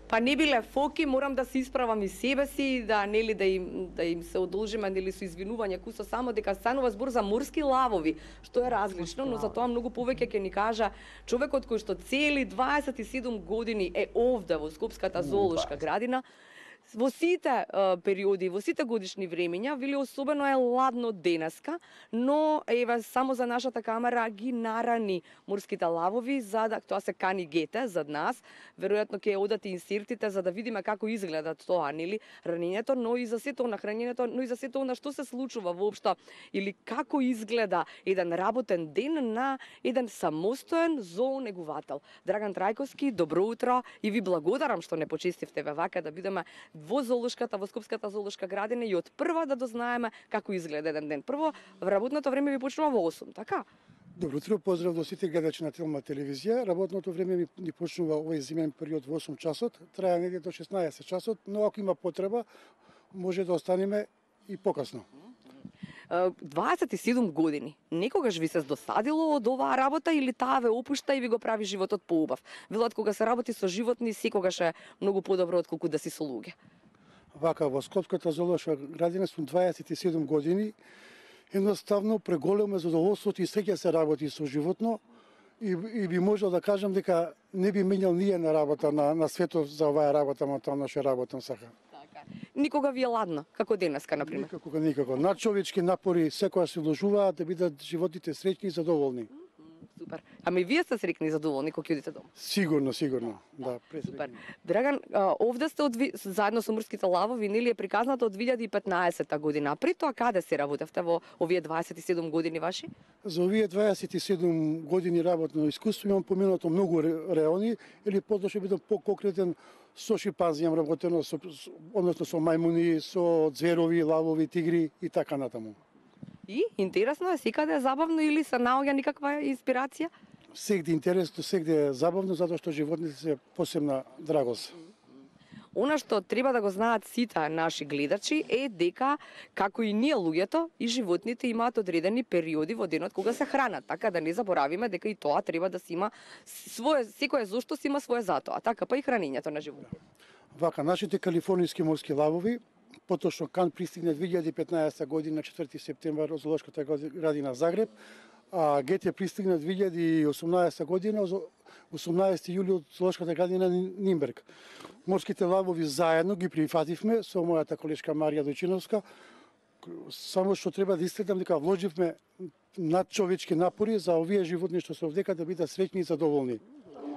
Па не биле фоки, морам да се исправам и себе си, да нели да им се одолжиме нели со извинување кусо само дека станува збор за морски лавови, што е различно, но за тоа многу повеќе ќе ни кажа човекот кој што цели 27 години е овде во Скопската зоолошка градина. Во сите периоди, во сите годишни времења, вели особено е ладно денеска, но еве само за нашата камера ги нарани морските лавови, за да тоа се кани гете зад нас. Веројатно ќе одат инсертите за да видиме како изгледа тоа, нели, ранењето, но и за сето нахранењето, но и за сето она што се случува воопшто или како изгледа еден работен ден на еден самостоен зоонегувател. Драган Трајковски, добро утро и ви благодарам што не почестивте вака да бидеме во зоолошката, во Скопската зоолошка градина и од прва да дознаеме како изгледа еден ден. Прво, работното време ви почнува во 8, така? Добро утро, поздрав до сите гледачи на Телма телевизија. Работното време ни почнува овој зимен период во 8 часот, трае негде до 16 часот, но ако има потреба, може да останеме и покасно. 27 години. Некогаш ви се досадило од оваа работа или таа ве опушта и ви го прави животот поубав? Велат кога се работи со животни, секогаш е многу подобро отколку да си со луѓе. Вака, во Скопската зоолошка градина сум 27 години. Едноставно преголемо задоволството и среќа се работи со животно и би можел да кажам дека не би менјал ни една работа на светот за оваа работа, ама тоа наша работа сака. Никога ви е ладно, како денеска, например? Никако. Надчовечки напори секогаш се вложуваат да бидат животите среќни и задоволни. Супер. Ами вие сте среќни и задоволни кога ќе одите дома? Сигурно. Да, супер. Драган, овде сте заедно со морските лавови, нели е приказнато од 2015 година. При тоа каде се работевте во овие 27 години ваши? За овие 27 години работно искуство имам поменато многу реони, или потоа бидам поконкретен, со шимпанзи имам работено, односно со мајмуни, со зверови, лавови, тигри и така натаму. И интересно е, секаде е забавно или се наоѓа никаква инспирација? Сегде интересно, сегде е забавно, затоа што животните се посебна драгост. Она што треба да го знаат сите наши гледачи е дека, како и ние луѓето, и животните имаат одредени периоди во денот кога се хранат, така да не заборавиме дека и тоа треба да се има свое, секој зошто си има свое затоа, така па и хранењето на животните. Вака, нашите калифорниски морски лавови, поточно Кан пристигна 2015 година 4 септември од зоолошката градина Загреб, а Гете пристигна 2018 година 18 јули од зоолошката градина Нимберг. Морските лавови заедно ги прифативме со мојата колешка Марија Дојчиновска, само што треба да истакнам дека вложивме надчовечки напори за овие животни што се овдека да бидат среќни и задоволни.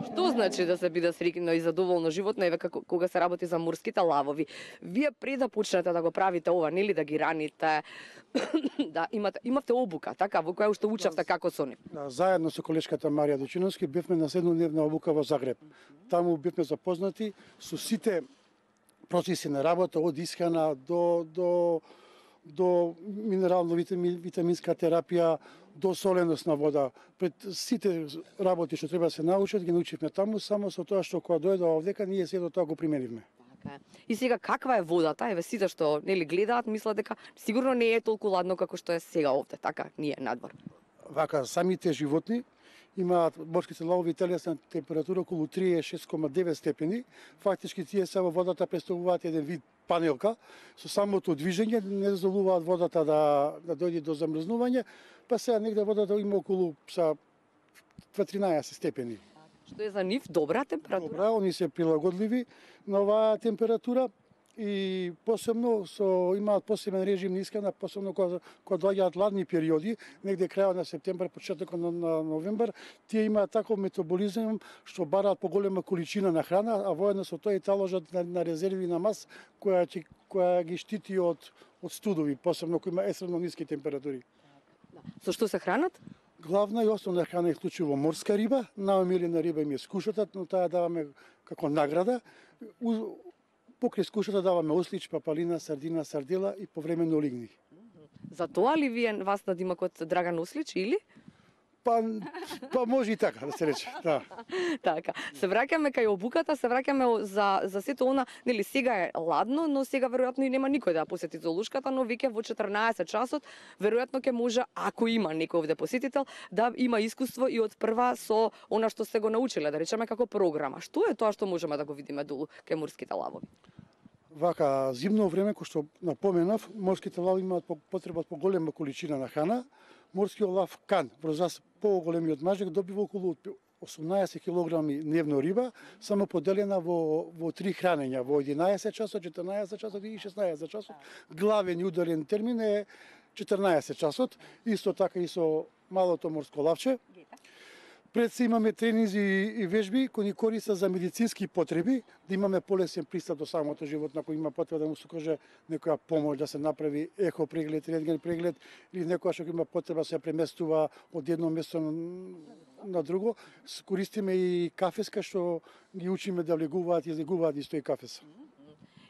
Што значи да се биде среќно и задоволно животно, еве кога се работи за морските лавови? Вие пред да почнете да го правите ова, нели да ги раните, да имавте обука, така, во која уште учевте како со нив? Да, заедно со колешката Марија Дојчиновски бевме на 7-дневна обука во Загреб. Таму бевме запознати со сите процеси на работа, од исхрана до минерално-витаминска терапија, до соленост на вода. Пред сите работи што треба да се научат, ги научивме таму, само со тоа што кога дојде овдека, ние сето тоа го применивме. Така е. И сега каква е водата? Еве сите што нели гледаат, мислат дека сигурно не е толку ладно како што е сега овде, така, ние надвор. Вака, самите животни имаат морските лавови телесна температура околу 36,9 степени. Фактички тие се во водата представуваат еден вид панелка, со самото движење не дозволуваат водата да дојде до замрзнување, па сега негде водата има околу 13 степени. Што е за нив добра температура? Добра, они се прилагодливи на оваа температура и посебно имаат посебен режим на исхрана, посебно кога доаѓаат ладни периоди, негде крајот на септември, почетокот на новембар, тие имаат таков метаболизам што бараат поголема количина на храна, а воедно со тоа и таложат на резерви на мас која ги штити од студови, посебно кои има екстремно ниски температури. Со што се хранат? Главна и основна храна е вклучува морска риба, најомилена риба им е скушата, но таа даваме како награда. Покрај скушата даваме ослич, папалина, сардина, сардела и повремено лигни. За тоа ли вие вас надимакот Драган Ослич или? Па може и така да се рече. Да. Така, се враќаме кај обуката, се враќаме за сето она, нели сега е ладно, но сега веројатно и нема никој да ја посети зоолошката, но веќе во 14 часот веројатно ќе може, ако има некој овде посетител, да има искуство и од прва со она што сте го научиле, да речеме како програма. Што е тоа што можеме да го видиме долу кај морските лавови? Вака, зимно време, кој што напоменав, морските лавови имаат потреба од поголема количина на храна. Морскиот лав кан, врз поголемиот мажек, добива околу 18 кг дневно риба, само поделена во 3 хранења, во 11 часот, 14 часот и 16 часот. Главен и ударен термин е 14 часот, исто така и со малото морско лавче. Пред се имаме тренинзи и вежби кои ни користат за медицински потреби, да имаме полесен пристап до самото животно, ако има потреба да му се каже некоја помош, да се направи ехо преглед, рентген преглед, или некоја што има потреба се преместува од едно место на друго. Користиме и кафеска што ги учиме да влегуваат и излегуваат исто и кафеса.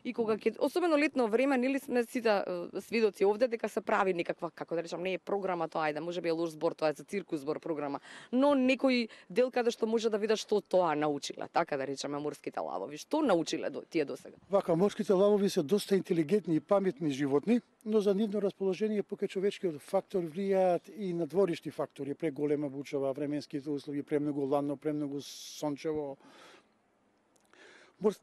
И кога ќе, особено летно време, нели сме сите свидоци овде дека се прави некаква, како да речам, не е програма тоа, ајде, можеби е лош збор, тоа е за циркус збор програма, но некој дел каде што може да видат што тоа научиле, така да речеме морските лавови. Што научиле тие досега? Вака, морските лавови се доста интелигентни и паметни животни, но за нивно расположение покрај човечкиот фактор влијаат и надворишни фактори, преголема бучава, временските услови, премногу ладно, премногу сончево.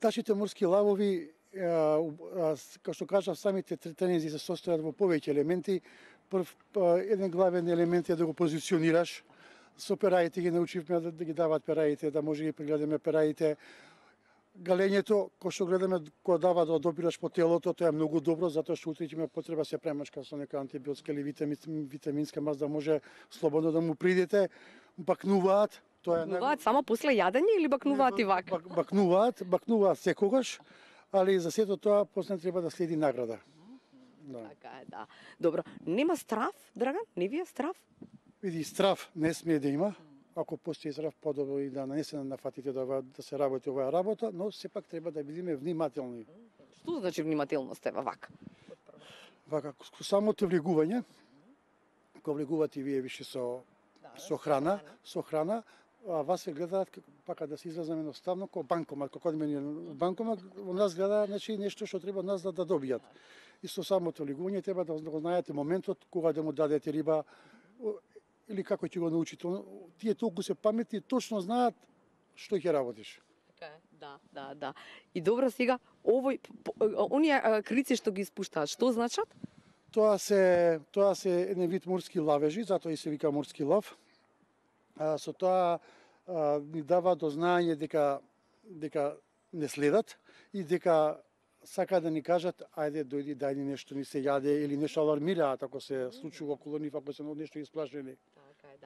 Нашите морски лавови, како што кажав, самите тренинзи се состојат во повеќе елементи. Еден главен елемент е да го позиционираш. Со пераите ги научивме да ги дават пераите, да може да ги прегледаме пераите. Галењето, кој што гледаме, кој дава да одопираш по телото, тоа е многу добро, затоа што утре ќе има потреба се премашка со нека антибиотска или витаминска мас, да може слободно да му придете. Бакнуваат. Бакнуваат само после јадење или бакнуваат и вака? Бакнуваат секогаш, али за сето тоа после треба да следи награда. Да. Така е, да. Добро, нема страв, Драган? Не ви е страв? Види, страв не смее да има. Ако постои страв, подобро и да не се нафатите да се работи оваа работа, но сепак треба да бидеме внимателни. Што значи внимателност е вака? Вака, самото влегување, кога влегувате вие више со храна, а вас се гледаат, пака да се изразам едноставно, како банкомат, како одиме банкомат, во нас гледа, значи нешто што треба нас да добијат. И со самото влегување треба да го знаете моментот кога да му дадете риба или како ќе го научите. Тие толку се паметни, точно знаат што ќе работиш. Така е, да. И добро сега, оние крици што ги испуштаат, што значат? Тоа се еден вид морски лавежи, затоа и се вика морски лав. Со тоа ни дава до знаење дека не следат и дека сака да ни кажат ајде дојди дај ни нешто, ни се јаде или нешто алармираат ако се случува околу нив, ако се нешто исплашени.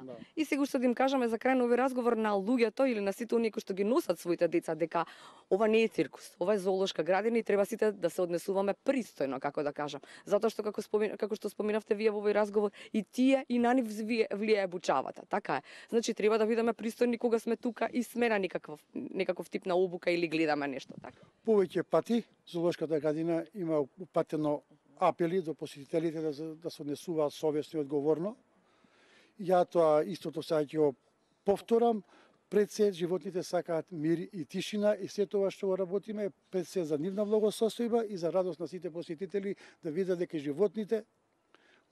Да. И сега што да им кажеме за крај на овој разговор на луѓето или на сите оние кои што ги носат своите деца дека ова не е циркус, ова е зоолошка градина и треба сите да се однесуваме пристојно, како да кажам. Затоа што како што споминавте вие во овој разговор, и тие и на нив влијае бучавата, така е. Значи треба да бидеме пристојни кога сме тука и сме на некаков тип на обука или гледаме нешто, така. Повеќе пати зоолошката градина има упатено апели до посетителите да се однесуваат совесно и одговорно. Ја тоа истото сега ќе го повторам, пред се животните сакаат мир и тишина и се тоа што го работиме пред се за нивна благосостојба и за радост на сите посетители да видат дека животните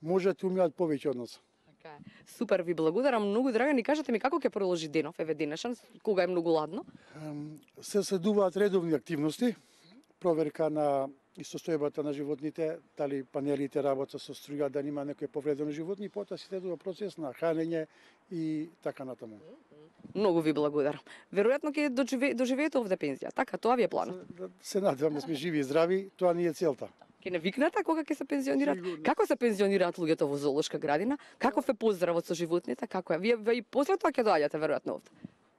можат да умеат повеќе од нас. Така е. Супер, ви благодарам многу, Драган, и кажете ми како ќе продолжи денов, еве денешен, кога е многу ладно? Се следуваат редовни активности, проверка на и состојбата на животните, дали панелите работат со струја, да нема некој повредено животни, потоа се следува процес на хранење и така натаму. Многу ви благодарам. Веројатно ќе доживеете овде пензија, така, тоа ви е планот? Се надевам да сме живи и здрави, тоа ни е целта. Ќе не викнете кога ќе се пензионираат? Сигурно. Како се пензионираат луѓето во зоолошка градина? Каков е поздравот со животните? Како е? Вие и после тоа ќе доаѓате веројатно овде?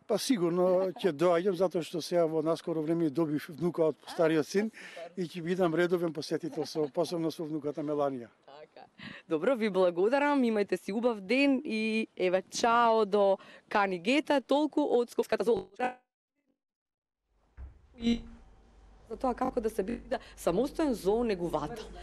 Па сигурно ќе доаѓам затоа што сега во наскоро време добив внука од стариот син и ќе бидам редовен посетител посебно со внуката Меланија. Така. Добро, ви благодарам, имајте си убав ден и еве чао до Кани Гета, толку од Скопската зоолошка. И за тоа како да се биде самостоен зоонегувател.